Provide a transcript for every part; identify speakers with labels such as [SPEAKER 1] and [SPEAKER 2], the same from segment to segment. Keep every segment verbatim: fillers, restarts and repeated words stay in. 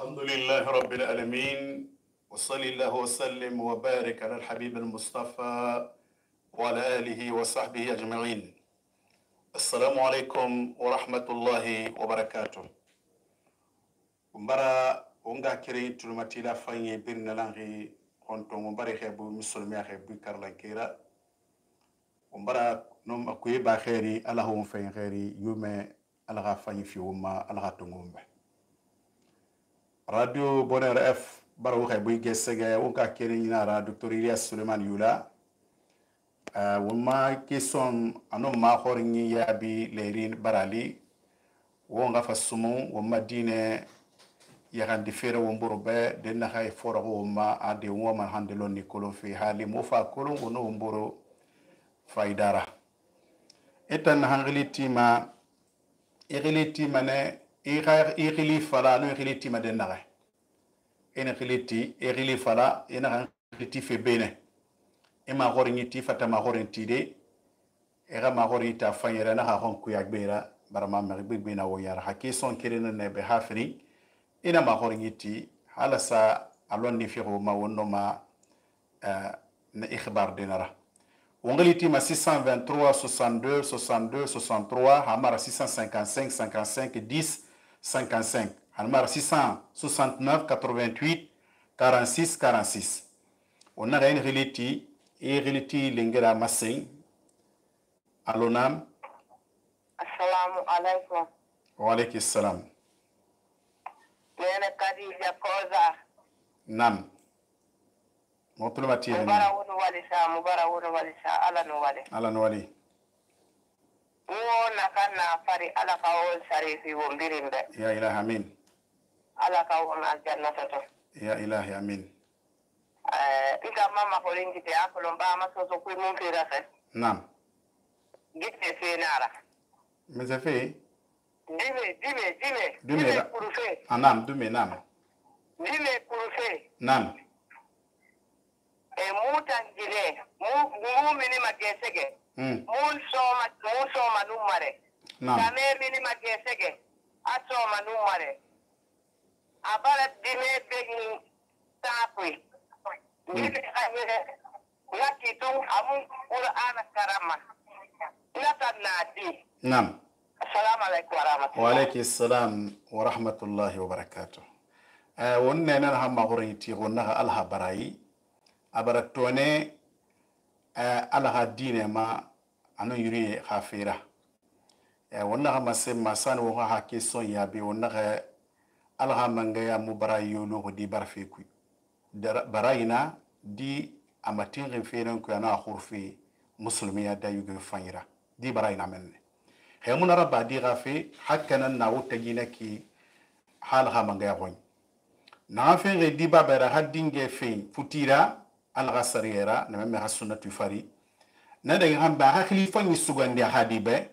[SPEAKER 1] الحمد لله رب العالمين وصلى الله وسلم وبارك على الحبيب المصطفى وعلى آله وصحبه أجمعين. السلام عليكم ورحمة الله وبركاته. ومبارا ونغا كري تلمتي لا فاني بيرنا لانغي كنتو مبارا خيبو مسلمي خيبو كارلان كيرا ومبارا نوم أكوي باخيري الله هم فين خيري يوم الله فاني في وما الله تنغم به Radio Bonheur F baro xebuy gesege wonka kene ñinara Docteur Ilyas Suleiman Yula uh, wonma question anon ma xorñi yabi lerin barali wonga fa sumu wonma dine yaxandi fere womboro be den na xay foro wonma ade woma hande lonni kolon fi hali mo fa kolon wono womboro faydara etan hangli tima igili tima ne igili fala no igili tima den na ene khiliti igili fala ena khiliti fe bene ema gorni ti fata ma gorni ti de era ma gorni ta fanyera na ha hon ku yagbera barama ma gbegbe na woyara hakison kirena ne be hafri ina ma gorni ti hala sa alon ni fiqo ma wonno ma na ikhbar dinara wongaliti ma six cent vingt-trois soixante-deux soixante-deux soixante-trois hamara six cent cinquante-cinq cinquante-cinq dix cinquante-cinq hamara six cent soixante-neuf quatre-vingt-huit quarante-six quarante-six on a une reliti et reliti lingera masin alonam
[SPEAKER 2] assalamu alaikum
[SPEAKER 1] wa alaykum assalam
[SPEAKER 2] nene kadija koza
[SPEAKER 1] nam motul mati
[SPEAKER 2] mubara wonu walisa mubara wonu walisa ala no wale
[SPEAKER 1] ala no wali
[SPEAKER 2] wo nakana fari ala ka won sarifi wo mbirimbe
[SPEAKER 1] ya ilahi amin
[SPEAKER 2] ala ka won aljannata to
[SPEAKER 1] ya ilahi amin
[SPEAKER 2] eh ika mama ko lingite akolo ba ma so so ku mun fira fe
[SPEAKER 1] nam
[SPEAKER 2] gite fe nara
[SPEAKER 1] mais fait
[SPEAKER 2] dime dime dime
[SPEAKER 1] dime
[SPEAKER 2] kurufe
[SPEAKER 1] anam dime nam
[SPEAKER 2] dime kurufe
[SPEAKER 1] nam
[SPEAKER 2] e mutangile mu mu mini magesege
[SPEAKER 1] mm
[SPEAKER 2] mun soma mun soma numare
[SPEAKER 1] nam
[SPEAKER 2] kame mini magesege asoma numare abara dime begi tapui dime ayere ngaki tu amun Qur'an karama nata nadi
[SPEAKER 1] nam
[SPEAKER 2] assalamu alaikum wa rahmatullahi
[SPEAKER 1] wa alaykum assalam wa rahmatullahi wa barakatuh eh wonne nan ha ma horin ti wonna alha barayi abaratone eh alha dine ma anu yuri khafira eh wonna ma se masan wo ha ke son ya be wonna alha manga ya mubarayo lo di barfe ku barayina di amatin referen ku ana khurfi muslimiya da yugo fanyira di barayina menne he mun rabba di gafi hakana na wutagina ki halha manga ya gon na fe re di babara haddinge fe futira al ghasarira na memme hasunatu fari na da hamba hakli fanyi sugande hadibe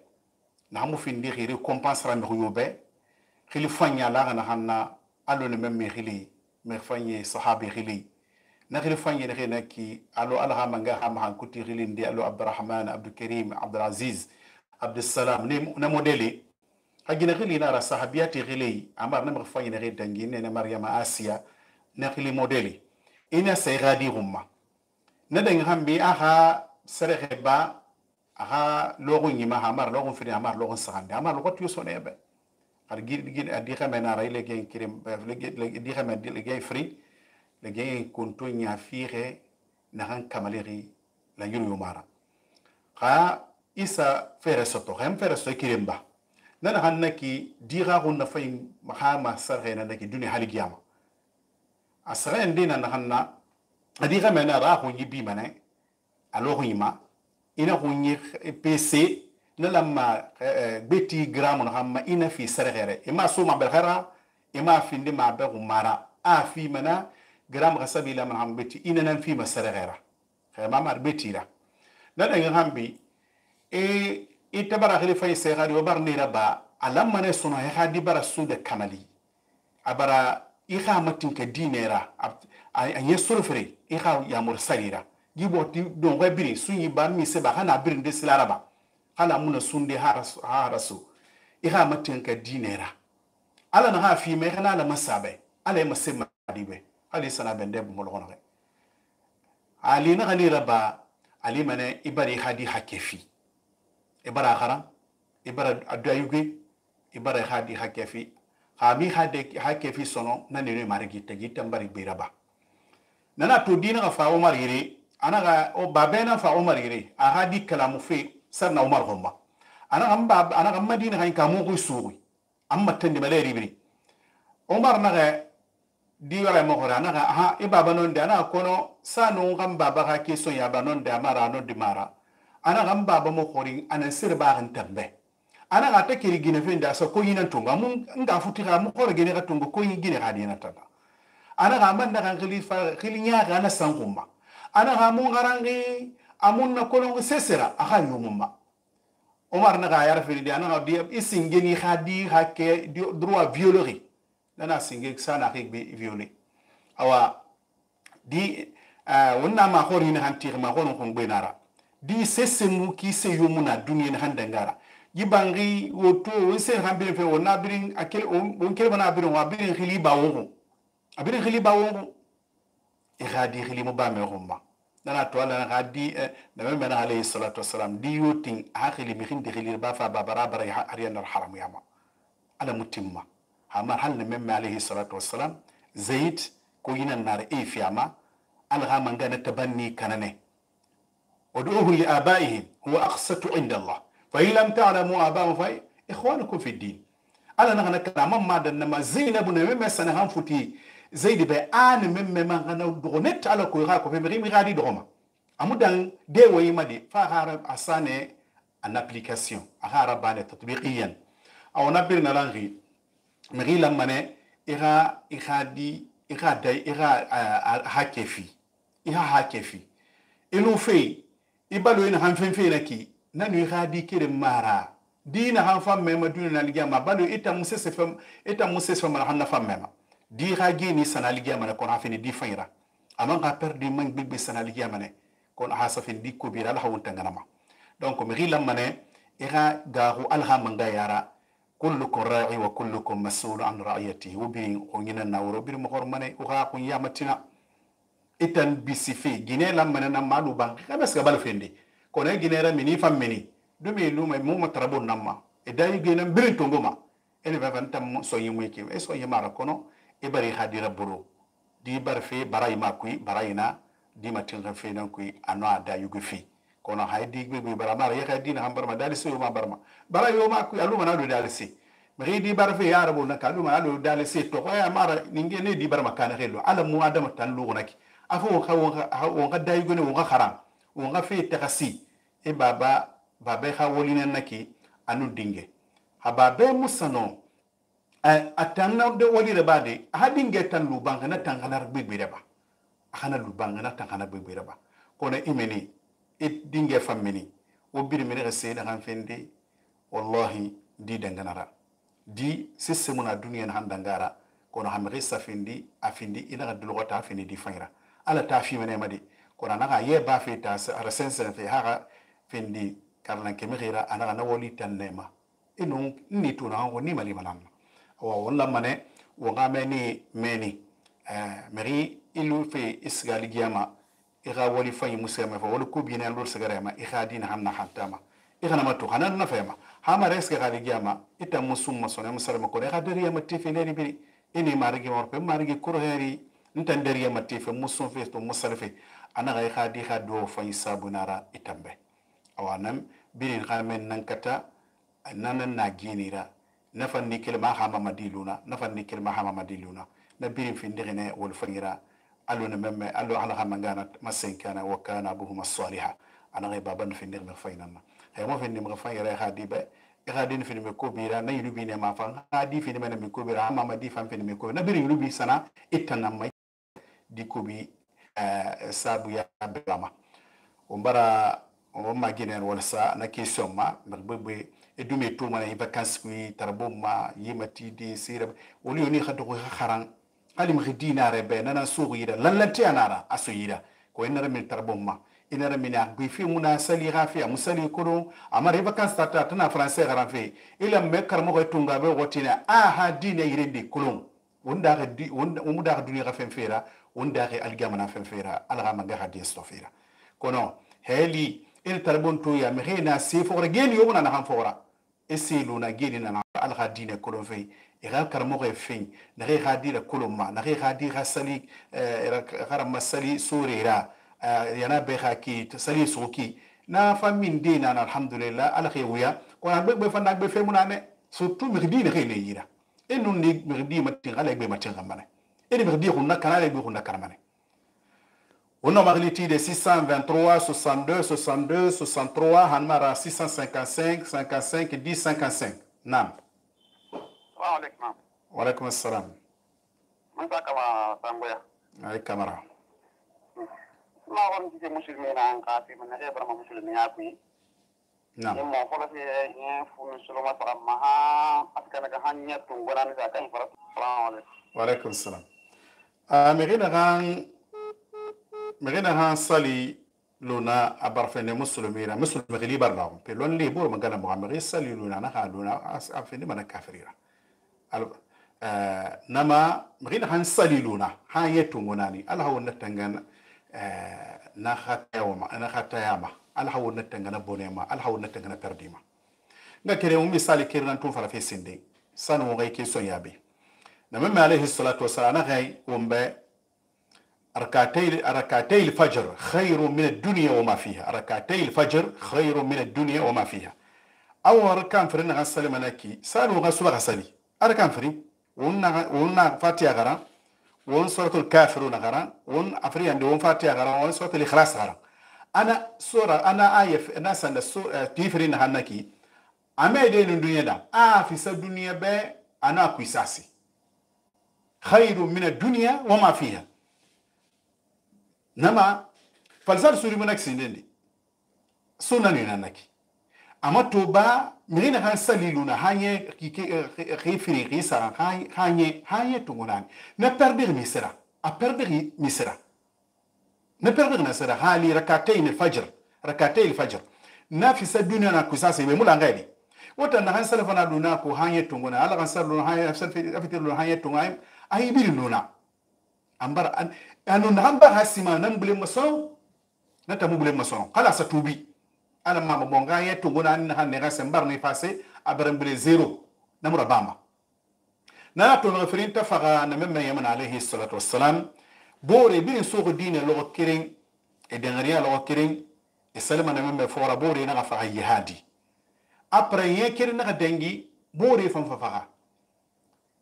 [SPEAKER 1] na mu findi khiri compensera mi yobe khili fanya la na hanna allo ne memme khili me fanyi sahabi khili na khili fanyi ne khina ki allo alha manga ha ma kuti khili ndi allo abdurrahman abdul karim abdul aziz abdul salam ne na modeli hagina khili na ra sahabiyati khili amar na fanyi ne dangi ne na maryama asiya na khili modeli ina sai gadi humma na dan hambi aha sare ba aha logo nyima hamar logo fini hamar logo sahande hamar logo tiyo nebe har gid gid adi xamena ray le gen kirim le di xamena le gen free le gen konto nya fixe na han kamaleri la yuru mara kha isa fere soto hem fere so kirimba nana hannaki di ga hunna fay mahama sarhe na naki duni haligiyama asra ndina na hanna adi xamena ra hu yibi mane alo yima ina hunyi pc na lamma beti gram no hamma ina fi sarhere ima suma bel khara ima fi ndi ma be mara a fi mana gram gasabi la man ham beti ina nan fi masarghera khama mar beti la na da hambi e itabara khali fay seghari wa barni raba alamma ne suna ha di bara sude kamali abara ikha matin ka dinera anye surfre ikha ya mursalira gibo ti don webiri sunyi ban mi se ba hana birin de silaraba hala muna sunde harasu iha matin ka dinera ala na ha fi me kana la masabe ala ma semma dibe ali sana bende bu molo gono ali na gali raba ali mane ibari hadi hakefi ibara khara ibara adayuge ibara hadi hakefi khami hade hakefi sono nani ne marigi tagi tambari biraba nana to dina ga fa Umar yire anaga o babena fa Umar yire a hadi kalamu fe sarna Umar homma anaga mba anaga madina kan kamu ko suuri amma tande maleri biri Umar naga diwara mo hora naga ha e baba non de ana kono sanu ngam baba ka ke so ya banon de amara no di mara ana ngam baba mo hori ana sir ba kan tambe ana ga ta kiri gine fe nda so ko yinan tunga mun nga futi ga mo hore gine ga tunga ko yin gine ga dina tata ana ga man daga khalifa khilinya ga na sangumma ana ga mun garangi amun na kono sesera aha yumumma Omar naga yar fili di ana ga di isingeni khadi hakke droit violerie nana singe sana ke be violé awa di wonna ma khori ni hantir ma khono kon benara di sesemu ki se yumuna duniya ni handangara yibangi woto wonse hambire fe wonna birin akel on kel bana birin wa birin khili ba wongo abirin khili ba wongo e khadi khili mo ba me khumma nana to ala khadi nabi mena alayhi salatu wassalam di yotin akhili mi khindi khili ba fa ba barabara ariyan haram yama ala mutimma hamar hal memme alayhi salatu wassalam zaid ko yinan nar e fiyama alha mangana tabanni kanane ودعوه لآبائهم هو أقسط عند الله فإن لم تعلموا آباءهم فإخوانكم في الدين أنا نحن كلام ما دنا زينب مما سنهم فتي زيد بأن مما ما غنا دغنت على كويراكو في مريم غادي دغما أمودان دي ويمدي فهار أسانة أن أبليكاسيون أهار بان تطبيقيا أو نبرنا لانغي مري لما نه إغا إغا دي إغا داي إغا هاكيفي إغا هاكيفي إلو في ibalo ina hanfen fe naki nanu khadi kire mara dina hanfam mema dunina ligama balo ita musese fam ita musese fam hanna fam mema di khagi ni sana ligama na kon hafini di fayra aman ka perdi man bibbi sana ligama ne kon hasafin di ko bira la hawun tanganama donc mi gilam mané ira garu alha manga yara kullukum ra'i wa kullukum mas'ul an ra'iyatihi wa bi ongina nawro bir mo hormane o ha kun yamatina itan bisifi gine lam manana malu bang kabes ga bal fendi ko ne gine ra mini fam mini dumi lu me mu matrabun namma e day gine birin to ngoma ele ba fantam so yimu ke e so yimara kono e bari hadira buru di bar fe baray ma kuy barayna di matin ga fe nan kuy anwa da yugo fi kono haydi gbe be bara mara ya dina ham barma dali so ma barma baray yo ma kuy aluma na do dali si mi di bar fe ya rabu na kaluma alu dali si to ko ya mara ninge ne di barma kana helo ala mu adama tan lu naki afo wonka dayigone wonka haram wonka fe takasi e baba baba ha wolina naki anu dinge ha baba musano atanna de wolire bade ha dinge tan lu banga na tangana bigbire ba khana lu banga na tangana bigbire ba kono imeni e dinge famini wo bir mi re se da kan fende wallahi di danganara di sissemuna duniya na handangara kono ha mi safindi afindi ina dulu wata afindi di fayra ala ta fi mene madi kona naga ye ba fe ta resensen fe haga fendi karlan ke mehira ana na woli tanema inu ni tuna ngo ni mali manan wa wala mane wo ga meni meni eh meri ilu fe isgali giyama ira woli fay musema fa wala ko bi ne lor sagarema ira dina hanna hatama ira na matu hanan na fema hama reske gali giyama ita musumma sone musalma ko ira dariya matti fe ne bi ini marigi morpe marigi kurheri ntandari ya matife musun fe to musalfe ana ga khadi khado fa isabunara itambe awanam birin khamen nan kata nan na ginira nafan nikil ma hama madiluna nafan nikil ma hama madiluna na birin fi ndirene wal fangira aluna memme allo ala hamangana masenkana wa kana abuhuma salihah ana ga baban fi ndirme faynana hay mo fi ndirme fangira khadi be khadi fi ndirme ko bira na yubi ne ma fa khadi fi ndirme me ko bira hama madi fam fi ndirme ko na birin yubi sana itanam dikobi uh, sabu ya bama umbara umma ginen wala sa na question ma bebe edume to mana vacances ku tarbo ma yimati di sira woni oni khado ko kharan alim khidina rebe nana sugu yida lallanti anara aso yida ko enara min tarbo ma inara min bi fi muna sali ghafi musali kono amara vacances tata tana français garan fe ila me karmo ko tunga be wotina aha dine yirindi kulum wanda ga di wanda umuda ga duniya ga fen fera wanda ga algama na fen fera alga manga ga di stofera kono heli il tarbon to ya mehena se fora geni yo na han fora esilu na geni na alga dine kolon fe igal karmo ga fe na ga ga di la koloma na ga ga di ga sali gara masali surira yana be ga ki sali suki na famin dina na alhamdulillah ala khawya ko na be fa na be fe munane surtout mirdi ne khayne yira enu ni mirdi matin ala be matin gamane eni mirdi ko na kanale be ko na karamane ono magliti de six cent vingt-trois soixante-deux soixante-deux soixante-trois hanmara six cent cinquante-cinq cinquante-cinq dix cinquante-cinq nam
[SPEAKER 3] Assalamu alaikum.
[SPEAKER 1] wa alaikum assalam
[SPEAKER 3] Man ta kama sangoya.
[SPEAKER 1] ay kamara
[SPEAKER 3] Ma won ci musulmi na an ka fi man ne barama musulmi ya ku.
[SPEAKER 1] nam
[SPEAKER 3] Ni mo ko fi ni fu musulma fara ma ha askana ga hanya tun gona ni ka kan fara. Assalamu alaikum.
[SPEAKER 1] wa alaikum assalam a mirina gan mirina han sali luna abarfene muslimina muslimi gili barla pe lon li bur magana muhammad sali luna na ha luna afene mana kafirira al nama mirina han sali luna ha yetu ngonani alha wonna tangana na khatayama na khatayama alha wonna tangana bonema alha wonna tangana perdima nga kere mu misali kirnan tun fara fe sinde sanu ngai ke son yabe نمم عليه الصلاة والسلام غاي ومبا ركعتي ركعتي الفجر خير من الدنيا وما فيها ركعتي الفجر خير من الدنيا وما فيها أو ركان فرنا غسل مناكي سالوا غسل غسلي أركان فري ونا ونا فاتيا غرا ون سورة الكافرون غرا ون أفري عند ون فاتيا غرا ون سورة الإخلاص غرا أنا سورة أنا آية ناس عند سورة تيفرين هناكي أما يدين الدنيا دا آه في سب الدنيا ب أنا كويساسي خير من الدنيا وما فيها نما فالزال سوري منك سندي سنن نانكي اما توبا مرينا هان سليلونا هاني خي فريقي سان هاني هاني هاني تونان نبردغ ميسرا ابردغ ميسرا نبردغ نسرا هالي ركعتين الفجر ركعتين الفجر نافس الدنيا نكوساسي بمولا غادي وتن هان سلفنا دوناكو هاني تونغنا على غسل هاني افتر هاني تونغاي ay biri nuna ambar an anu namba hasima nan bule maso na tamu bule maso kala sa tubi ana mama bonga ye tunguna an han ne gasen bar ni passé abran bule zero namura bama na to no referin ta faga na memma yaman alayhi salatu wassalam bore bin suuq dine lo kirin e dengariya lo kirin e salama na memma fora bore na fa jihadi après ye kirin na dengi bore fam fa faga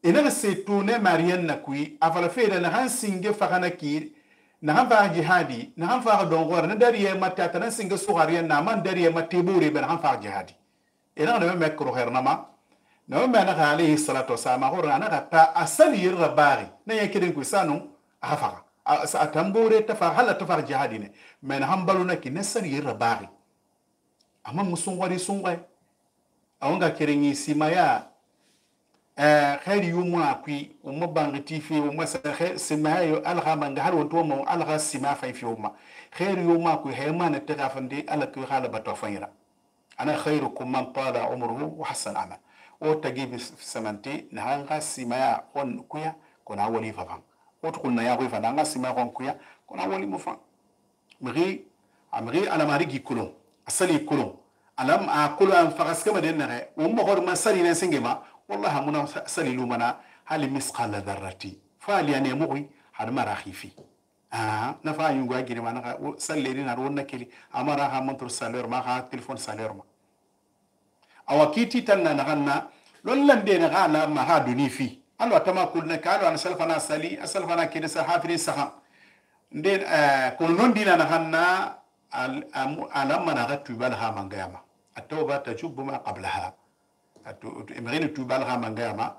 [SPEAKER 1] ina se tune mariyan na kui afala fere na han singe fakana ki na han fa jihadi na han fa don gor na dariye mata tan singe sugariyan na man dariye mate buri ben han fa jihadi ina na me kro khair nama na me na alayhi salatu wassalam hor na ta asali yirga bari na yakidin ku sanu afa sa tambure ta fa hala ta fa jihadi ne men han baluna ki nasali yirga bari amma musun wari sun gai awanga kirin yi simaya خير يوم أكوي وما بانغتي في وما سخ سماعي ألغا من هل وتوما ألغا سماع في في يوم خير يوم أكوي هيما نتغافندي ألك يخال بتوفيرا أنا خيركم من طال عمره وحسن عمل وتجيب سمنتي نهانغا سماع كون كويا كون أولي ففان وتقولنا يا غوي فنانغا سماع كون كويا كون أولي مفان مغي أمغي أنا ماريجي كلون أصلي كلون ألم أقول أن فغس كما دينا وما غور ما سالي نسنجما والله منا سليلو منا هل مسقال ذرتي فالي أنا مغوي هذا ما راح يفي آه نفع ينقوا أجري ما نقا سليرين أرونا كلي أما راح منتر سالير ما ها تلفون سالير ما أو كيتي تنا نغنا لون لندي نغانا ما ها دني في أنا تما كلنا كانوا أنا سلفنا سالي أسلفنا كده سحافرين سخا ندين آه كلون دينا نغنا على ما نغت تبالها من قيامة التوبة تجوب ما قبلها امغين توبال غا مانغاما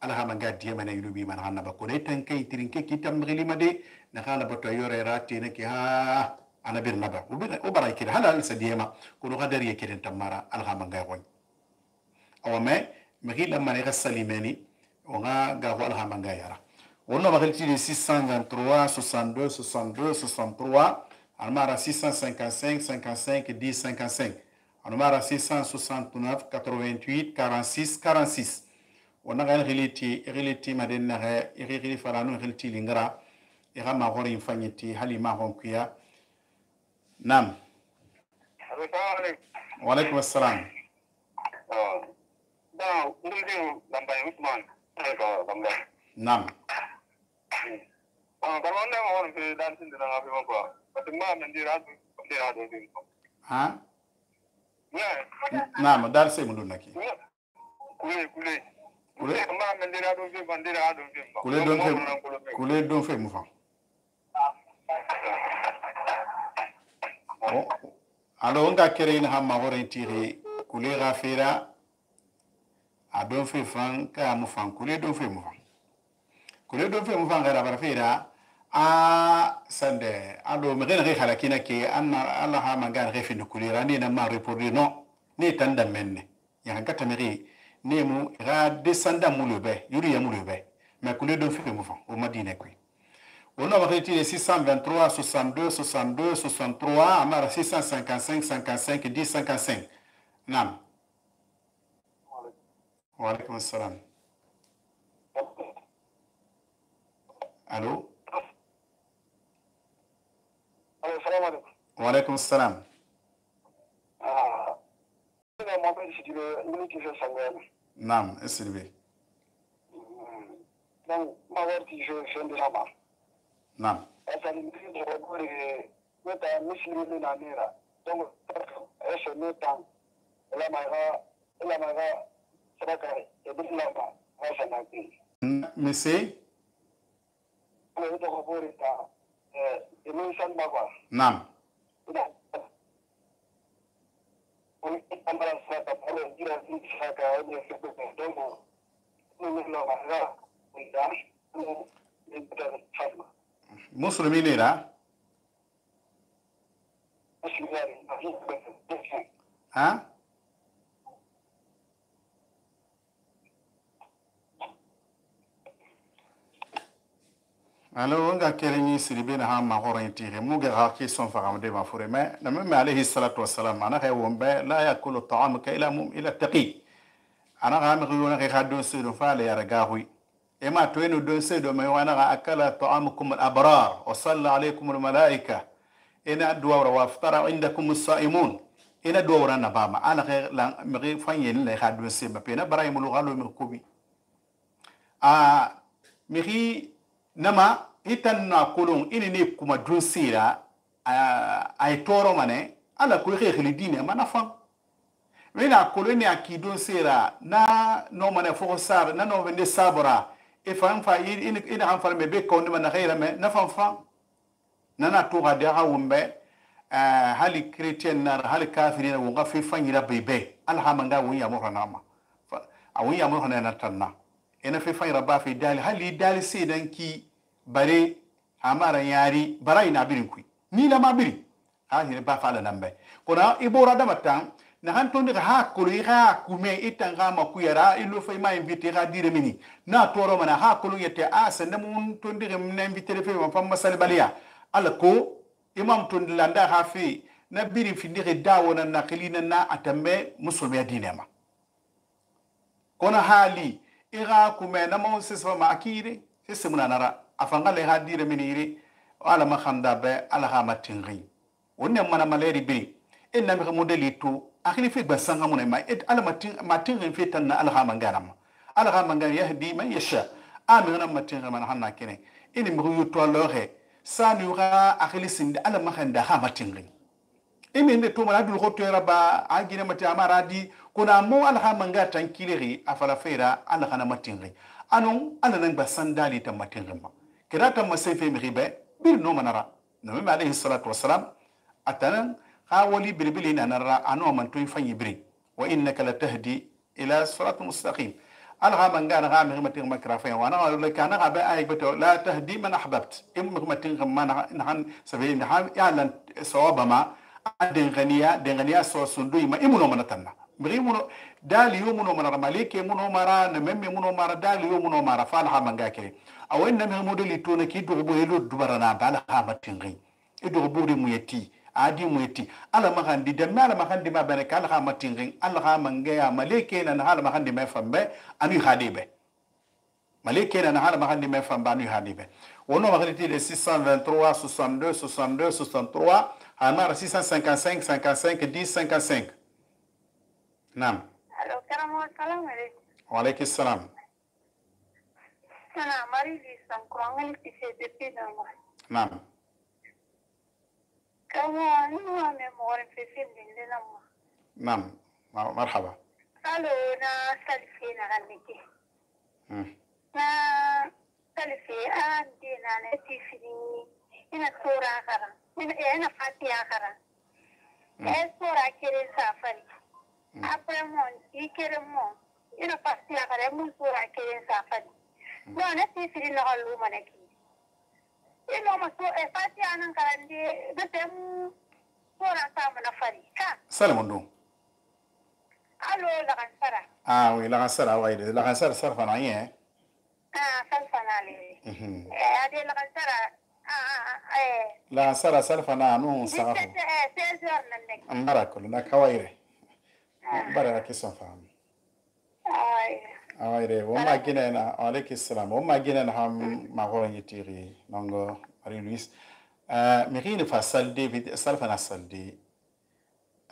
[SPEAKER 1] ala ha manga dia mana yubi man hanna ba ko ne tan kay tirin ke kitam ngili made na khala bato yore rati ne ki ha ana bir naba o bara ki hala al sadiyama ko no gadar yake den tamara al ha manga gon aw me magi lamma ne gasalimani o nga ga ho al ha manga yara wonno ba khalti de six cent vingt-trois soixante-deux soixante-deux soixante-trois almara six cent cinquante-cinq cinquante-cinq dix cinquante-cinq almara six cent soixante-neuf quatre-vingt-huit quarante-six quarante-six wona ga khiliti khiliti maden na ga khili faranu khilti lingara ira ma hori fanyiti hali ma hon kuya nam wa alaikum assalam
[SPEAKER 3] da ndin lamba Usman ko lamba
[SPEAKER 1] nam
[SPEAKER 3] ah ba wonne mo won fi dan tin da ngafi mo ko fatima men dira du dira do din ko
[SPEAKER 1] ha
[SPEAKER 3] ne
[SPEAKER 1] nam dal se mun naki
[SPEAKER 3] kule kule
[SPEAKER 1] kule
[SPEAKER 3] ma men dira do fi ban dira do fi
[SPEAKER 1] kule don fe kule don fe mu fa oh alo nga kere ina hamma hore tiri kule gafira a don fe fan ka mu fan kule don fe mu fan kule don fe mu fan gara bara fira a sande alo me gene khala kina ke anna Allah ha mangan refi de kule rani na ma reporter no ni tanda menne ya ngata meri ni mu ra descenda mu lebe yuri ya mu lebe mais kule don fe mu fan o madina kwi on a retiré six cent vingt-trois soixante-deux soixante-deux soixante-trois amara six cent cinquante-cinq cinquante-cinq dix cinquante-cinq nam wa alaikum assalam allô
[SPEAKER 3] allo salam alaikum
[SPEAKER 1] wa alaikum assalam
[SPEAKER 3] ah ina mo be ci dire ni ki se sangana
[SPEAKER 1] nam esribe
[SPEAKER 3] donc ma warti je je de sama
[SPEAKER 1] nam
[SPEAKER 3] asali mti je gore meta muslimu na nera donc ese meta la maga la maga sadaka e bisla ba wasa na ki
[SPEAKER 1] monsieur
[SPEAKER 3] ko to ko gore ta eh e mun san ba ba
[SPEAKER 1] nam
[SPEAKER 3] on amara sa ta palo dira si saka ne se ko donc ni no maga ida ni beta fatma
[SPEAKER 1] muslimi ne da ha alors nga keleni siribe na ha ma horon tire mu ga ha ki son fara de ma fure me na me alayhi salatu wassalam ana khay wombe la yakulu ta'amuka ila mum ila taqi ana ga mi yona khay khadon sedo fa la yara gahui e ma to eno don sedo me wana ga akala ta'amukum al abrar wa salla alaykum al malaika ina duwara wa aftara indakum as-saimun ina duwara na bama ana khay la mi fanye ni la khadon se ma pe na baray mu lu galo mi kubi a mi nama itan na kolon ini ne kuma dun sira ay toro mane ala ko xexli dine mana fam wena koloni akidon sira na no mane fo sar na no vende sabra e fam fa ini ina ham farme be ko ndima na xeyra me na fam fam nana to ga de ha wumbe hali chrétien na hali kafirina wo nga fi fanyira bebe alhamanga wo ya mo ranama a wo ya mo hanana tanna ina fi fayra ba fi dali hali dali sedan ki bare amara yari bara ina birin ku ni la ma biri ha ni ba fa la nambe kona ibora da matan na han ton ha ko ri ha ku me itanga ma ku yara ilo fay ma invite ga dire mini na toro mana ha ko yete a sanda mun ton dire na invite fe ma fam masal baliya ala ko imam ton landa ha fi na biri fi dire dawo na nakilina na atambe musulmi dinema kona hali ira kume na mo sesfa ma akire sese muna nara afanga le ha dire miniri ala ma khanda be ala ha matingi wonne mana maleri bi enna mi modeli to akhili fi basanga muna ma et ala matin matingi fi tan ala ha mangana ma ala ha mangana yahdi man yasha amina matingi man hanna kene ini mi yuto lore sanu ga akhili sinde ala ma khanda ha matingi imi nde to mala dul khoto raba agine mati amara di kuna mo ala ha manga tankiliri afala fera ala kana matingi anon ala nan basandali ta matingi ma kirata masefe mi ribe bil no manara nabi alayhi salatu wassalam atanan ha wali bilbili na nara ano man to fanyi biri wa innaka latahdi ila siratal mustaqim ala ha manga na ha mi matingi makra fa wa na la kana ga ba ay beto la tahdi man ahbabt im mi matingi man han sabi ha yalan sawabama adin ganiya den ganiya so sundu ma imuno manatanna biri muno dali yo muno mara malike muno mara na memme muno mara dali yo muno mara fa ha manga kire awen na me modeli to na ki do bo helo dubara na bala ha matingi e do bo de muyeti adi mueti ala magandi de mala magandi ma bane kala ha matingin ala ha mange ya maleke na hala magandi me fambe anu hadibe maleke na hala magandi me fambe anu hadibe wono magriti de six cent vingt-trois soixante-deux soixante-deux soixante-trois amara six cent cinquante-cinq cinquante-cinq dix cinquante-cinq nam
[SPEAKER 2] allo karamo salam alaikum
[SPEAKER 1] wa alaykum salam
[SPEAKER 2] sana mari li san ko ngal ti se de pina ma
[SPEAKER 1] nam
[SPEAKER 2] kama ni ma me mo ren fe fin din de nam
[SPEAKER 1] nam marhaba
[SPEAKER 2] allo na salfi na ganiki
[SPEAKER 1] hmm
[SPEAKER 2] na salfi an dina na ti fini ina sura kara ina ina fatiha kara e sura kire safari après mon ikere mon ina fatiha kara mun sura kire safari no na ti fini na halu manaki ino ma so e fatiha nan karande da tem sura ta mana fari ka
[SPEAKER 1] salamundo
[SPEAKER 2] allo la kansara
[SPEAKER 1] ah oui la kansara ouais la kansara ça fa rien
[SPEAKER 2] ah salfanale eh ade la kansara ah eh
[SPEAKER 1] la kansara salfana no safa
[SPEAKER 2] eh seize heures nan nek
[SPEAKER 1] ambarakulu na kawaire bara kisan fam
[SPEAKER 2] ay
[SPEAKER 1] awayre wo ma gina na alaykum salam wo ma gina na ham ma ho yitiri nongo ari luis euh mirin fa salde vid salfana salde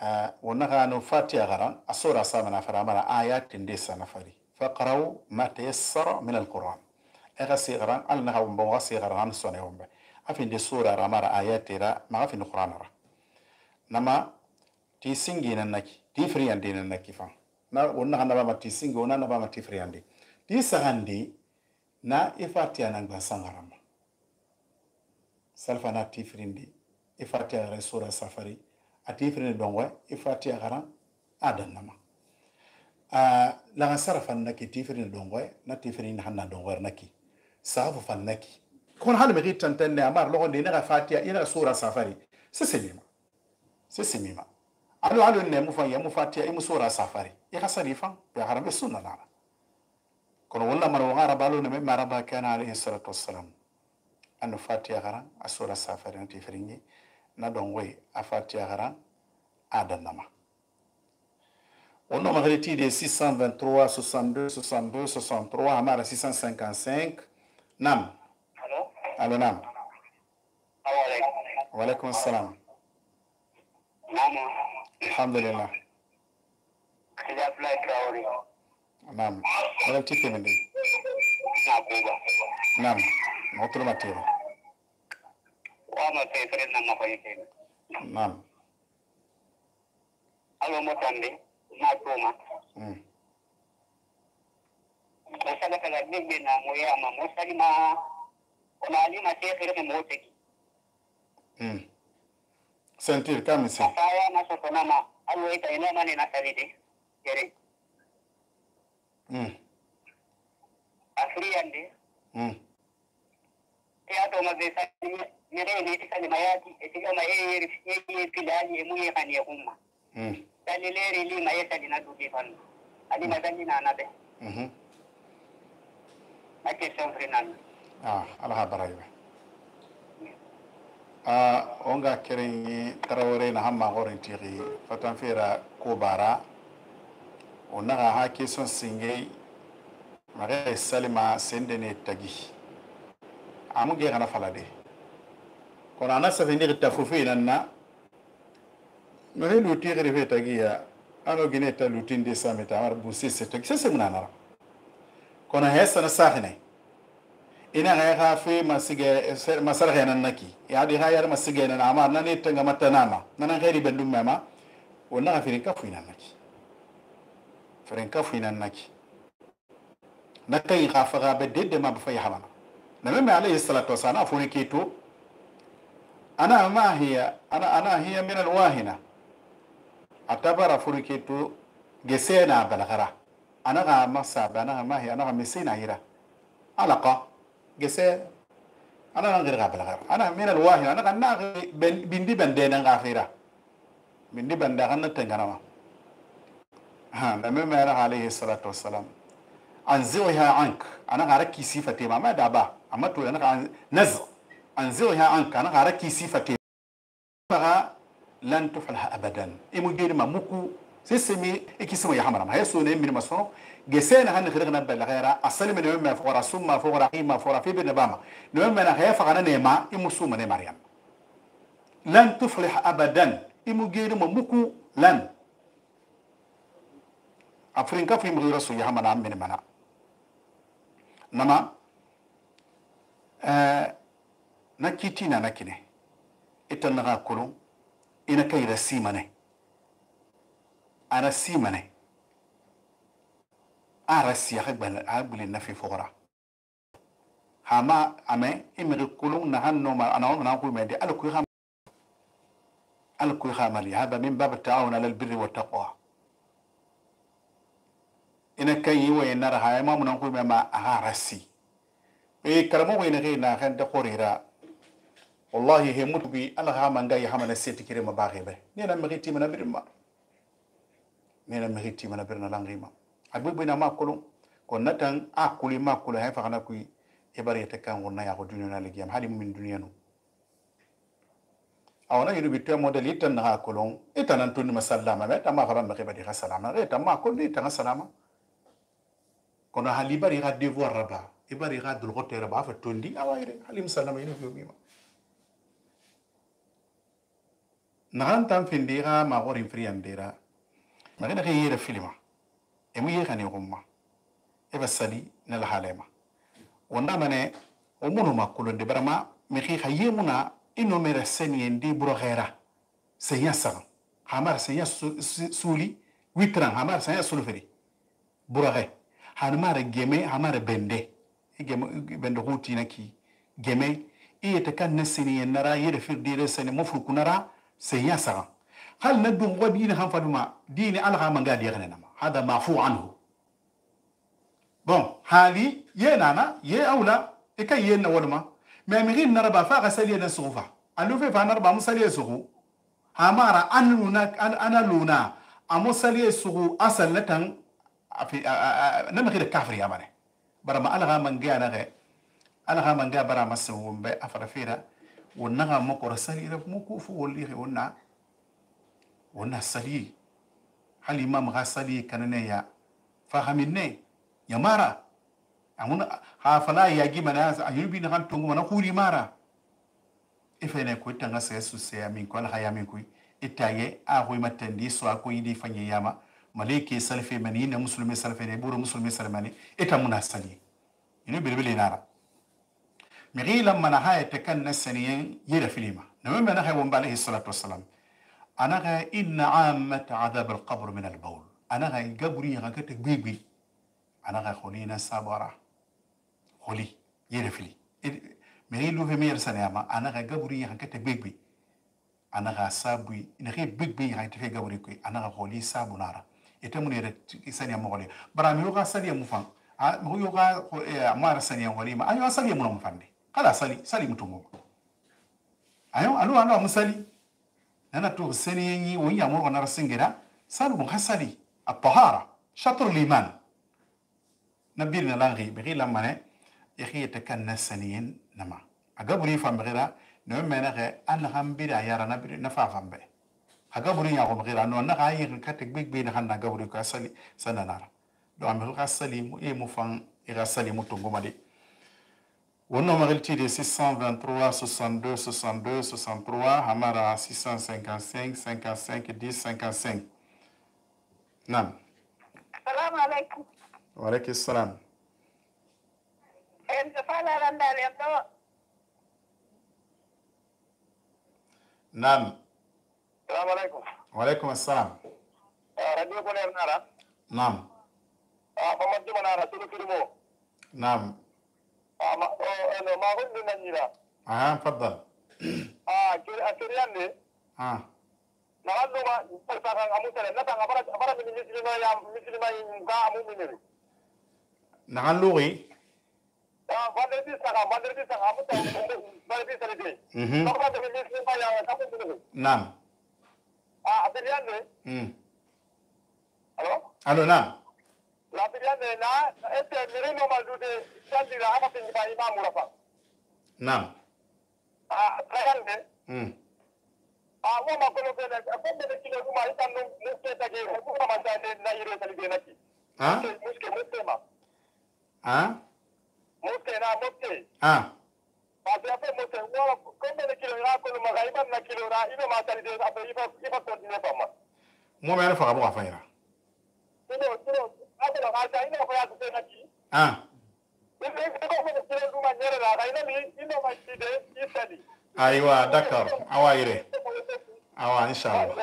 [SPEAKER 1] euh wona gano fatiha garan asura samana faramara ayatin de sanafari faqraw ma tayassara min alquran aga sigaran alna hawo bo sigaran sone wombe afin de sura ramara ayatira ma afin alquran ra nama ti singi nan naki ti friyande nan naki fa na wonna handa ba mati singi wonna na ba mati friyande ti sagandi na ifatiya nan gban sangarama salfana ti frindi ifatiya garan sura safari ati frindi dongwe ifatiya garan adan nama a la gasara fan naki ti frindi dongwe na ti frindi hanna dongwe naki safu fan naki kon hal me gitan tanne amar logo de na fatiya ina sura safari sesemima sesemima alo alo ne mu fa ya mu fatiya imu sura safari ya kasari fa ya harambe sunna na kono wala maro ngara balo ne me maraba kana alayhi salatu wassalam anu fatiya garan asura safari nti fringi na dongwe a fatiya garan adanama ono magreti de six cent vingt-trois soixante-deux soixante-deux soixante-trois amara six cent cinquante-cinq nam
[SPEAKER 3] Hello?
[SPEAKER 1] alo nam
[SPEAKER 3] Assalamualaikum.
[SPEAKER 1] wa alaykum assalam
[SPEAKER 3] Mama,
[SPEAKER 1] alhamdulillah
[SPEAKER 3] saya apply Traore.
[SPEAKER 1] nam wala tipe mende
[SPEAKER 3] Na Cuba.
[SPEAKER 1] nam motro matiro
[SPEAKER 3] Wama favorite nama ko yake.
[SPEAKER 1] nam
[SPEAKER 3] Alo mo tande, na Tuma.
[SPEAKER 1] mm
[SPEAKER 3] Masala kala bigbe na mo ya ma mo sali ma ona ali ma te khere mo teki.
[SPEAKER 1] mm sentir kamisi
[SPEAKER 3] Saya na so nama alo ita ina mane na sali de. Kere.
[SPEAKER 1] mm
[SPEAKER 3] Afri ande.
[SPEAKER 1] mm
[SPEAKER 3] Ya to ma be sali mere ne ti sali mayati e tiga ma e e filali e mu ye kan ye umma.
[SPEAKER 1] mm
[SPEAKER 3] Sali le ri ma ye sali na du ke fan. Ali ma sali na na be.
[SPEAKER 1] mhm
[SPEAKER 3] Ake son frenan.
[SPEAKER 1] ah ala barayba ah onga keren tarawore na hamma horin tiri fatan fera ko bara onaga ha keson singei mare salima sendene tagi amuge kana falade kono ana safindi ta fufi nanna mare luti gere fe tagi ya ano gine ta lutinde sameta mar busi se tagi se munana kono hesa na sahne ina ga ga fe masige masar ga nan naki ya di ga yar masige nan amma nan ne tanga mata nama nan gairi bandum mama wannan ga firin kafu nan naki firin kafu nan naki na kai ga fa ga bedde ma ba fa ya hamana nabi mai alayhi salatu wasallam afuni keto ana ma hiya ana ana hiya min alwahina atabara furi keto gesena balagara ana ga masa bana ma hiya ana ga misina hira alaqa gese ana nan gari gabal gar ana min alwahi ana kan na bindi bande nan gafira bindi banda kan nan tangana ma ha da me mera alayhi salatu wassalam anziha ank ana gara ki sifate ma ma da ba amma to ana naz anziha ank ana gara ki sifate ba lan tuflaha abadan imu geri ma muku sesemi ikisimo ya hamara ma heso ne min maso gesena han khirgna bal ghaira asali min yawma fora summa fora qima fora fi bin bama no yawma na khaya fagana ne ma imu suma ne maryam lan tuflih abadan imu geri ma muku lan afrin ka fi mu rasul ya hamana min mana nama eh nakitina nakine itanna kulun ina kai rasimane ana simane ara siya gbal agbli na fi fora hama ame imri kulun na hanno ma ana na ku me de alku kham alku khamali hada min bab ta'awun ala albirri wat taqwa ina kai wa ina raha ma mun ku me ma aha rasi e karamo wa ina na kan da qorira wallahi he mutubi ala ha manga ya hamana seti kire ma baxe be nena meriti mana birma nena meriti mana birna langima abubu na makulu ko natan akuli makulu ha fa kana ku ibari ta kan wonna ya ko duniya na ligiyam hadi min duniya no awna yiru bitu model itan na kulun itanan tun masallama be ta ma fa ba ke ba salama re ta ma ko ni ta salama kono hali bari ga devoir raba ibari ga dul gotere ba fa tondi awayre halim sallama yiru bi ma nahan tan findira ma gorin friandira magana ke yere filima e mu yekani gumma e basali na la halema wanda mane o munu makulo de barama mi khi khayemuna ino mera seni ndi buro khaira senya sa hamar senya suli witran hamar senya sulferi buro khay hanmar geme hamar bende geme bende huti naki geme iyete kan nasini nara yere firdire seni mufru kunara سيا سرا هل ندم ودين هم فدما دين الله ما قال يغنى هذا معفو عنه بون هالي ينانا يه أولى إكا ينا ولما ما مغين نربا فاق سليا نسوفا ألو في فنربا مسليا سوغو همارا أنا لونا أنا لونا أمو سليا سوغو أصل نتن في نمغير كافر يا ماني برما الله ما قال نغي الله ما قال برا مسوم بأفرفيرا ونغا مكور سالي رف مكو فو ولي ونا ونا سالي هل امام غا سالي كانني يا فهمني يا مارا امنا هافلا ياجي منا ايوبي نغان تونغ منا خوري مارا افنه كو تanga sesu se amin ko la yamin ko itaye a hoy matandi so ko yidi fanye yama maleke salfe mani na muslimi salfe ne buru muslimi salmani ita muna sali ino bilbili nara مغيلا من هاي تكن سنين يلا فيلما نمم أنا هاي عليه الصلاة والسلام أنا غا إن عامة عذاب القبر من البول أنا غا قبري غا كتك بيبي أنا غا خلينا سابرا خلي يلا فيلي مغيلو في مير سنياما أنا غا قبري غا كتك بيبي أنا غا سابوي نغي بيبي غا تفي قبري كوي أنا غا خلي سابو نارا يتمني رت سنياما غلي برامي يوغا سنيا مفان مغو يوغا مار سنيا غلي ما أيوة سنيا منو مفاندي kala sali sali mutungo ayo alu anga musali nana to seni yi wonya mo na rasingera salu mun hasali at-tahara shatr al-iman nabirna langi bi la mane yakhi takanna saniyin nama agaburi fam bira no mena ge an hambira yara nabir nafa fambe agaburi ya ko bira no na ga yi katek big bi na hanna gaburi ko sali sananara do am ko sali mu e mu fan ira sali mutungo made On a de six cent vingt-trois, soixante-deux, soixante-deux, soixante-trois, Hamara six cent cinquante-cinq, cinquante-cinq, dix, cinquante-cinq. Nam.
[SPEAKER 2] Salam alaikum.
[SPEAKER 1] Wa alaikum salam. Nam.
[SPEAKER 3] Salam alaikum.
[SPEAKER 1] Wa alaikum salam.
[SPEAKER 3] Radio Koner Nara.
[SPEAKER 1] Nam.
[SPEAKER 3] Ah, Muhammad Jumanara, Sulu Kirimo.
[SPEAKER 1] Nam.
[SPEAKER 3] Ah, ma oh, ma hundi nanira.
[SPEAKER 1] Ah, تفضل.
[SPEAKER 3] Ah, kiri akirian ni.
[SPEAKER 1] Ah.
[SPEAKER 3] Nakano ma pagkakang amu tele, natang abara abara minisili ya minisili ma yung ka amu minili.
[SPEAKER 1] Nakaluri.
[SPEAKER 3] Ah, banderi saka, banderi saka amu tele, banderi salite.
[SPEAKER 1] Mhm.
[SPEAKER 3] Nakano minisili ma yang kamu minili.
[SPEAKER 1] Nam.
[SPEAKER 3] Ah, akirian ni.
[SPEAKER 1] Hmm.
[SPEAKER 3] Halo?
[SPEAKER 1] Alo, nam.
[SPEAKER 3] La akirian ni na, ete mirino maldude, sandira apa tinggi imamu rafa.
[SPEAKER 1] Nam.
[SPEAKER 3] Ah, akirian ni.
[SPEAKER 1] Hmm.
[SPEAKER 3] a wo ma ko ko na ko be kilo ma ita no no ke ta ge ko ma ta ne na yiro ta ge na ki
[SPEAKER 1] ha
[SPEAKER 3] muske muske ma
[SPEAKER 1] ha
[SPEAKER 3] muske na muske
[SPEAKER 1] ha
[SPEAKER 3] ba ta pe muske wo ko be kilo ra ko ma ga iba na kilo ra iba ma ta de abe iba iba ko ne ba ma
[SPEAKER 1] mo me fa bo fa ira
[SPEAKER 3] kilo kilo abe la ga ta ina ko ya ko na ki
[SPEAKER 1] ha
[SPEAKER 3] ibe ko ko be kilo ma nyere ra ga ina mi ina ma ti de isali
[SPEAKER 1] aywa d'accord awa ire awa inshallah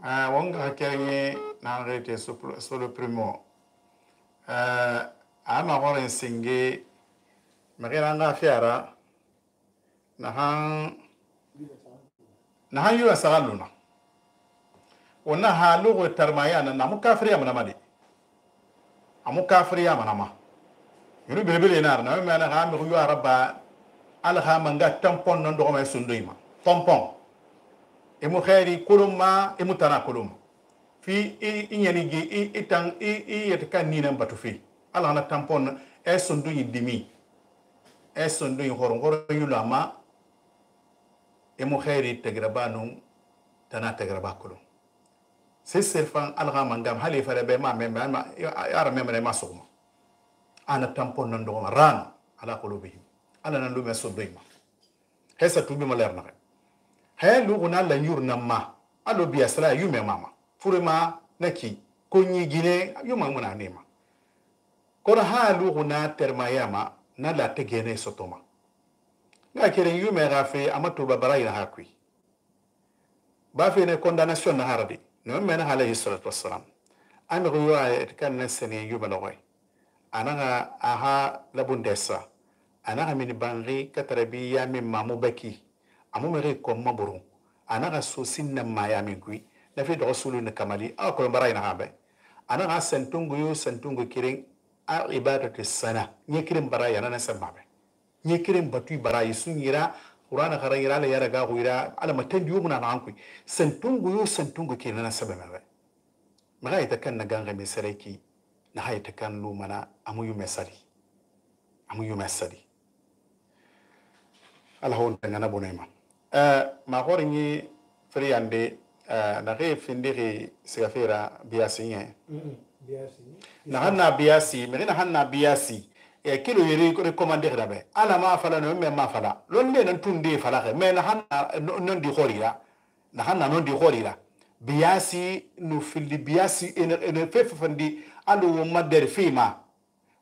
[SPEAKER 1] ah wonga kenye na rete sur le primo euh ama gore singe magana nga fiara na han na han yu asaluna wana halu go tarmaya na mu kafiriya mana made amu kafiriya mana ma yuru belebele na na me na ha mi yu araba alha manga tampon non do ma sundoima tampon e mu khairi kuluma e mu tana kuluma fi i nyani gi i itang i i yetaka ni nan batu fi alha na tampon e sunduyi dimi e sunduyi horo horo yulama e mu khairi tagrabanu tana tagraba kulum c'est serfan alha manga hali fara be ma me ma ara me me ma suma ana tampon non do ma ran ala qulubihim ala nan lume so doyma hesa tubi maler na he lu guna la nyur namma alo biya sala yume mama furema naki konyi gine yuma muna nema kora ha lu guna termayama na la tegene sotoma nga kere yume gafe amato babara ina hakwi ba fe ne condamnation na harade no men alayhi salatu wassalam an ruwa kan nasani yume lawai ananga aha labundesa ana min bangi katarabiya min mamu baki amu mere ko maburu ana ga sosin na maya min kui na fi do sulu na kamali a ko barai na habe ana ga santungu yo santungu kirin a ibadatu sana nye kirin barai ana na sababe nye kirin batu barai sunyira qur'ana kharayira la yara ga guira ala matan yu muna na ankui santungu yo santungu kirin na sababe maga ita kan na ganga mi sareki na hayta kan lu mana amu yu mesali amu yu mesali ala hon tangana bonema euh ma horingi friande euh na re findiri sigafira biasi yen biasi na hanna biasi me na hanna biasi e kilo yiri ko recommander dabe ala ma fala no me ma fala lon le nan tunde fala me na hanna non di khorira na hanna non di khorira biasi no fili biasi en fefe fandi ando madder fima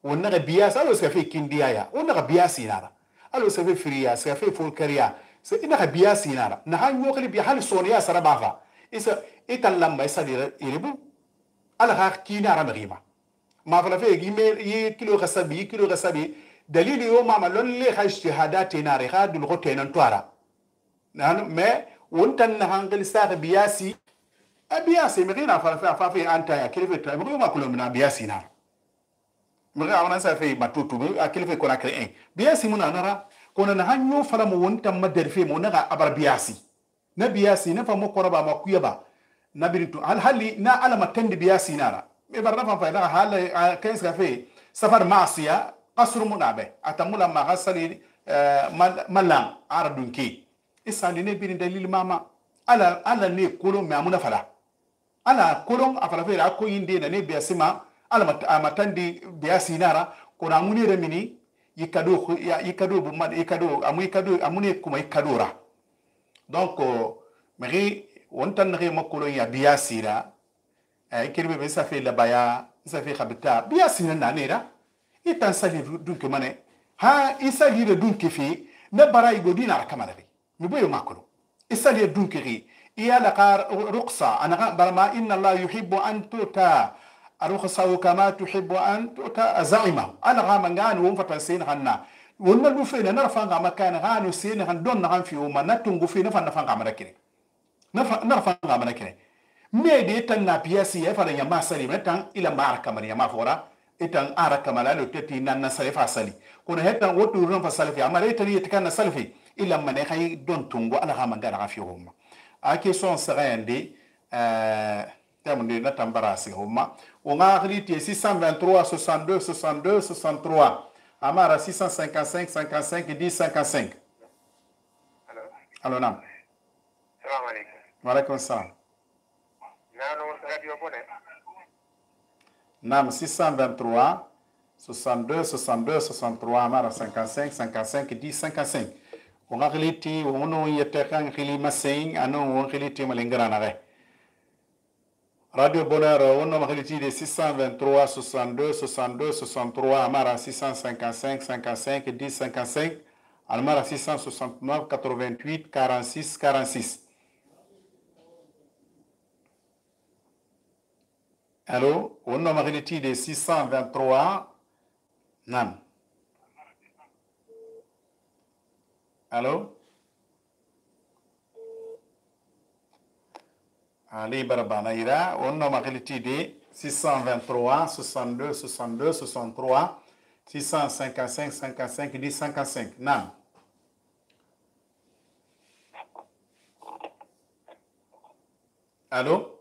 [SPEAKER 1] wonna biasi alo ska fe kindiya ya wonna biasi nara alo sa fe friya sa fe folkaria sa ina biasi nara na han yo khali bi hal soniya sarabafa isa itallamba isa dira iribu ala ha kina ramrima ما فلا في يميل يكيلو غسبي يكيلو غسبي دليل يوم ما لون لي خا اجتهادات ناري خا دول غوتين انتوارا نحن ما وانت نهانغل ساغ بياسي ابياسي مغينا فلا فافي انت يا كيف مغيو ما كلهم من بياسي نار مغي انا سافي ماتوتو كيف كنا كرين بياسي منا نرا كنا نهانيو فلا مو وانت مدر في مو نغا ابر بياسي نبياسي نفهم قربا ما كيبا نبريتو هل هل نا على ما تند بياسي نارا إبرنا فايدا حال كيس كافي سفر معصية قصر منابه أتمولا ما غسلي ملام عردونكي إسالي نبين دليل ماما على على ني كلهم مامونا فلا على كلهم أفلا فيرا أكو يندينا نبي أسمع على ما تندي بياسينارا كنا أموني رميني يكادو يكادو بمن يكادو أمو يكادو أموني كم يكادورا donc مغي وانتن نغي مكولو يا بياسيرا كلمة بس في لبايا في خبتا بياسين نانيرا يتنسلي دونك مانه ها يسالي دونك في نبرا يغودين على كمالبي نبوي ماكلو يسالي دونك ري يا لقار رقصة أنا برما إن الله يحب أن تؤتى رقصة كما تحب أن تؤتى زعمه أنا غامن غان ومفتن سين غنا ونلو فينا نرفع غا مكان غانو سين غن دون غان في وما نتنغو في نفن نفن غا مركني نرفع غا مركني ميدي تنا بياسي يفعل يما سلي متان إلى مارك من يما فورا إتان أرك ملالو تتي نان سلف سلي كنا هتا وتو رن فسلفي أما ريتني يتكان سلفي إلى من يخي دون تونغو على هم دار فيهم أكيد سون سرين دي تمن دي نتام براسي هما ونعرفي تي six cent vingt-trois soixante-deux soixante-deux soixante-trois أما را six cent cinquante-cinq cinquante-cinq dix cinquante-cinq Allo, naam.
[SPEAKER 3] Salam alaikum.
[SPEAKER 1] Wa alaikum salam.
[SPEAKER 3] Nano radio bone.
[SPEAKER 1] Naam, six cent vingt-trois soixante-deux soixante-deux soixante-trois mara cinquante-cinq cinquante-cinq dix cinquante-cinq. On a relité on a yete kan khili masing ano on relité malingara re. Radio Bonheur on a relité de six cent vingt-trois soixante-deux soixante-deux soixante-trois mara six cent cinquante-cinq cinquante-cinq dix cinquante-cinq almara six cent soixante-neuf quatre-vingt-huit quarante-six quarante-six. Allô, on a relité de six cent vingt-trois Nam. Allô? Ali Barbanaïra, on a relité de six cent vingt-trois soixante-deux soixante-deux soixante-trois six cent cinquante-cinq cinquante-cinq dix cinquante-cinq. Nam. Allô?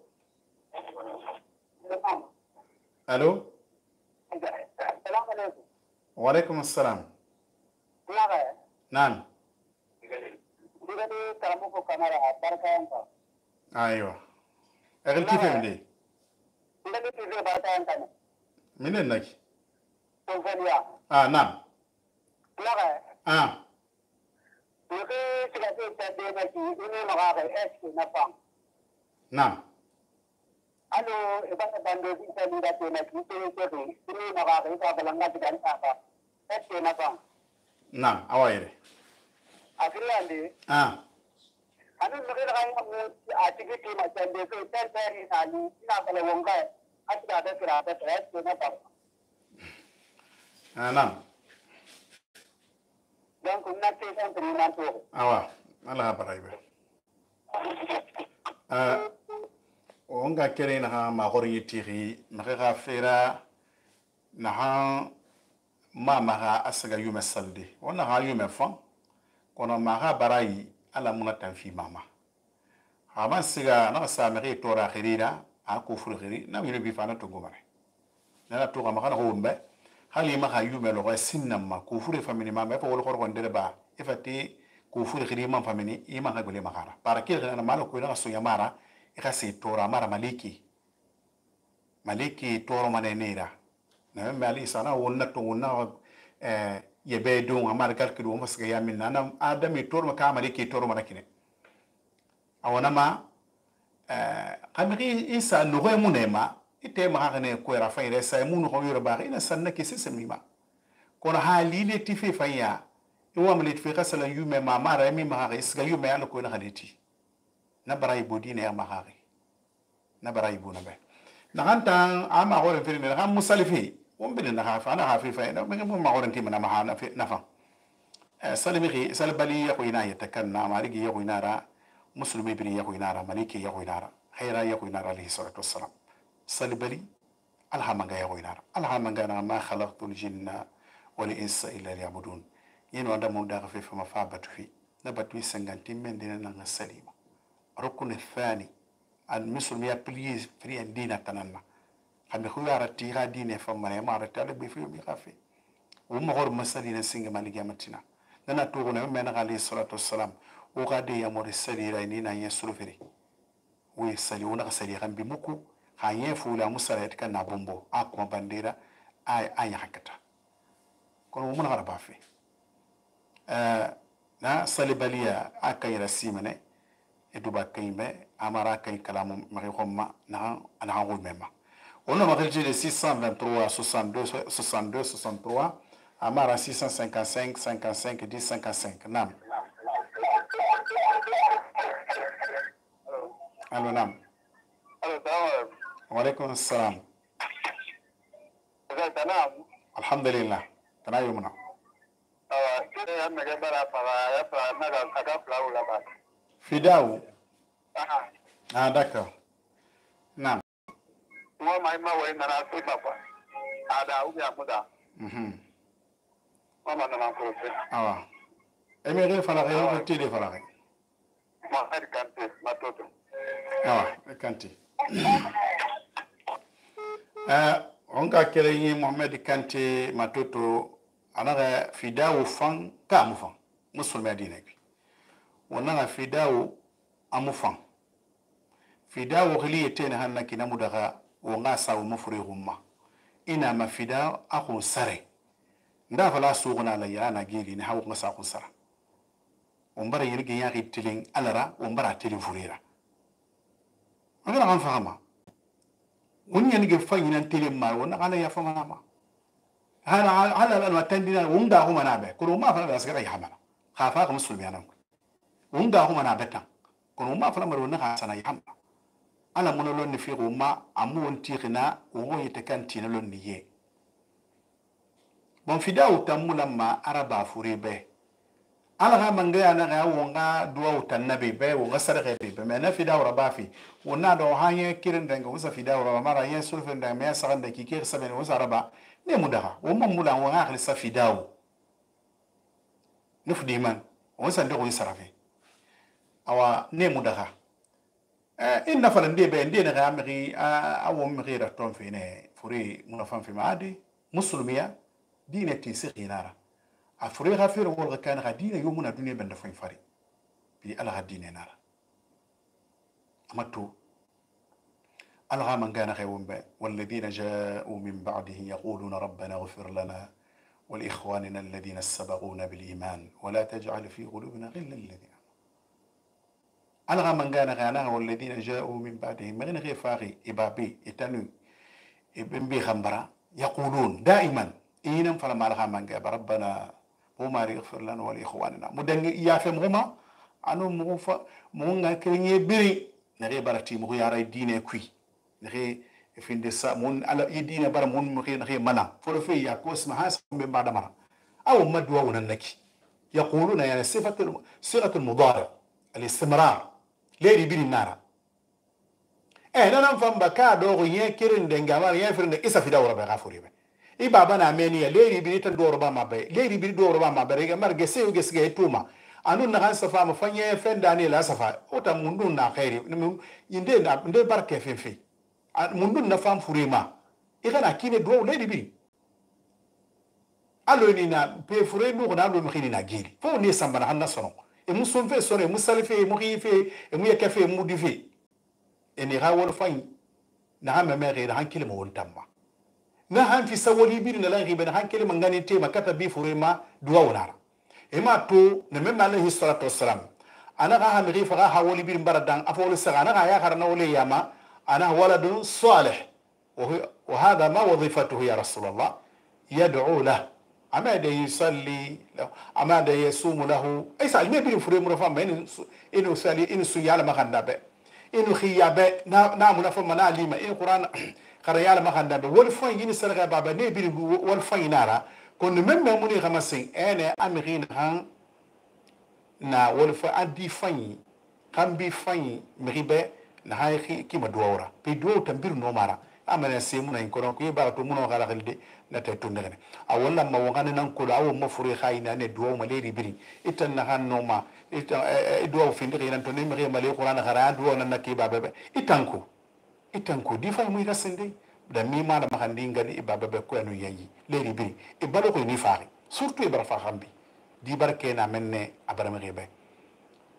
[SPEAKER 1] Allô? Wa alaikum assalam. Naam. Aywa. Egal kife mde? Minen naki? Ah, naam. Ah. Naam.
[SPEAKER 3] Alo, iba na bando di sa nila to na kito ko ri, sino nakakita ba lang na digan apa? Ese na bang.
[SPEAKER 1] Naam, awaire.
[SPEAKER 3] Agriyandi.
[SPEAKER 1] Ah.
[SPEAKER 3] Ano nakita kayo mo activity ma sende ko ten ten ani ina kala wonga at da da kira da ese na bang.
[SPEAKER 1] Ah, naam.
[SPEAKER 3] Dan kun na te san trina to.
[SPEAKER 1] Awa, Allah baraibe. Ah. On ga kere na ma gori tiri na ga fera na ha ma ma ga asaga yume salde on na ha yume fon kono ma ga barai ala muna tanfi mama ha man siga na sa me to ra khirira a ko furu khiri na mi bi fana to gomare na to ga ma ga ho mbe hali ma ga yume lo ga sinna ma ko furu famini ma me ko wol ko ndere ba ifati ko furu khiri ma famini i ma ga gole ma gara para ke na ma ko na so yamara ikasi tora mara maliki maliki toro manenera na mali sana wonna to wonna eh yebe do amar galki do masga yamin na adami toro ka maliki toro manakine awana ma eh kamri isa no re munema ite ma hane ko ra fa ire sa munu ko yoro ba ina sanna ke sesemi ma kono hali le tifi fa ya iwa mali tifi kasala yume ma mara mi ma ha isga yume ala ko na haliti na barai bodi ne ma hari na barai bu na be na hanta ama gore firi ne ha musalifi won bin na hafa na hafi fa na me ma gore ntima na ma ha na fa salimi salbali ya ko ina yatakanna ma rigi ya ko inara muslimi bin ya ko inara maliki ya ko inara khaira ya ko inara alayhi salatu wassalam salbali alhamanga ya ko inara alhamanga na ma khalaqtul jinna wal insa illa liya'budun yeno anda mo da fa fa ma fa batu fi na batu sanganti men dina na salima ركن الثاني المسلم يبلي في الدين تننا خم خويا رتي غادين فما ما رتي على بفيو مخافي وما غور مسالين سينغ مالي جامتنا نانا توغنا من عليه الصلاه والسلام وغادي يا مور السلي رينينا يسلو فري ويسلي ونا سلي غام بمكو هاي فولا مسالات كان بومبو اكو بانديرا اي اي حكتا كون من غربا في ا نا صليباليا اكاي رسيمنه eduba kaime amara kay kalamu mari khomma na ana hawo mema on a marqué de six cent vingt-trois soixante-deux soixante-deux soixante-trois amara six cent cinquante-cinq cinquante-cinq dix cinquante-cinq nam allo nam
[SPEAKER 3] Allo, salam.
[SPEAKER 1] wa alaikum assalam
[SPEAKER 3] Tanam.
[SPEAKER 1] alhamdulillah kana yumna
[SPEAKER 3] Ah, kire ya mege bara para ya para na ga ka flau la ba.
[SPEAKER 1] Fidao.
[SPEAKER 3] Ah.
[SPEAKER 1] Ah, d'accord. Naam.
[SPEAKER 3] Moi mai ma we na na su papa. Ada u ya muda.
[SPEAKER 1] Mhm.
[SPEAKER 3] Mama na na ko se.
[SPEAKER 1] Awa. Emere fala ko tele fala.
[SPEAKER 3] Ma har kante ma toto.
[SPEAKER 1] Awa, kanti. Eh, on ka kere yi Mohamed Kanté matoto anaga Fidao fan ka mu fan. Musulmi adina bi. wonna fidawo amufan fidawo khili yetene hanna kinamu daga wonga sawu mufure humma ina ma fida akun sare nda fala suguna la yana geli ni hawo ngasa kun sara umbara yirgi yaki tilin alara umbara tilin furira ngana kan fahama wonni yani ge fanyina tilin ma wonna kana ya fama ma hala hala al watandina wunda huma nabe ko ma fala asgara ya hamala khafa ka muslimi anan wunda huma nabe tan ko ma fala mar wonna ka sana ya hamala ana mun lon ni fi ma amu wonti khina wo yete kan tina lon ni ye bon fidaw tamula ma araba furibe ala ga mangaya na ga wonga duwa tannabi be wonga sadaka be be na fidaw rabafi wonna do hanye kirin danga wasa fidaw raba mara yen sulfen da me sagan da kike saben wasa raba ne mudaha womma mula wonga akhli sa fidaw nufdi man wasa ndo ko sarafe awa ne mudaha in nafala nde be nde na ga miri awo miri da ton fi ne furi munafan fi maadi muslimiya dine ti sikhinara afuri ghafir wal kan gadina yomuna dunya banda fain fari bi ala hadine nara amatu algha man kana khaywun ba walladhina ja'u min ba'dihi yaquluna rabbana ighfir lana ولإخواننا الذين سبقونا بالإيمان ولا تجعل في قلوبنا غلا للذين alga mangana gana walladina ja'u min ba'dihim magana ghe faqi ibabi itanu ibn bi khambara yaqulun da'iman inam fala malha manga rabbana huma yaghfir lana wa li ikhwanina mudangi ya fem huma anu mu fa mu nga kenye biri na ghe barati mu yara dine kui na ghe finde sa mun ala idina bar mun mu ghe na ghe mana fo fe ya ko isma has be ba'da mara aw madwa wa naki yaquluna yani sifatu sifatu al-mudari al-istimrar leri biri nara eh nana famba ka do ye kirin de ngama ye firin de isa fida wora be gafuri be i baba na meni ya leri biri tan do roba mabe leri biri do roba mabe ga marge se uge sige tuma anu na han safa ma fanye fenda ni la safa ota mundu na khairi inde na inde barke fefe mundu na fam furima i kana kine do leri biri alo ni na pe fure mu na do mkhini na giri fo ni samba na hanna sono e musun fe sore musalife e muhife e mu yakafe mudife e ni rawol fay na ha memere na hankile mo wontamma na han fi sawoli bi na lan ribe na hankile man ngani tema kata bi furema duwa wonara e ma to na memma alayhi salatu wassalam ana ga ha mi fa ga hawoli bi baradan afol sagana ga ya karna wole yama ana waladun salih wa hada ma wadhifatuhu ya rasulullah yad'u lahu amada yusalli amada yasumu lahu aysa almebi fure mu fa men inu sali inu su yala makanda be inu khiyabe na na mu fa mana lima in qur'an khara yala makanda be wal fa yini sarga baba ne bi wal fa inara kon men men muni khamasin ene amirin han na wal fa adi fanyi kan bi fanyi miribe na hay ki ma duwara pe duwo tambir no mara amana se mun en koron ko ba to mun kala khalde na tay to ndene a wala ma wangane nan ko awu ma furi khayna ne duwo ma leri biri itan na han no ma ita duwo fi ndiri nan to ne mi mali qur'an khara duwo nan nakki ba bebe itanko itanko di fa mu rasinde da mi ma da ma handi ngani ibaba be ko enu yayi leri biri e balo ko ni faari surtout ibara fa khambi di barke na menne abarama rebe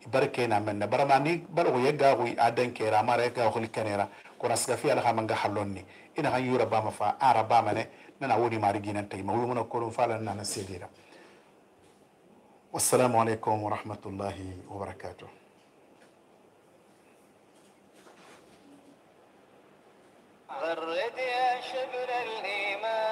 [SPEAKER 1] barke na menne barama ni balo ko yegga ko adan kera mara ga ko likanera ko nasgafi ala hamanga halonni ina han yura bama fa ara bama ne nana woni mari ginan tay ma wona ko fa la nana sedira wassalamu alaikum wa rahmatullahi wa barakatuh غرد يا شبل الإيمان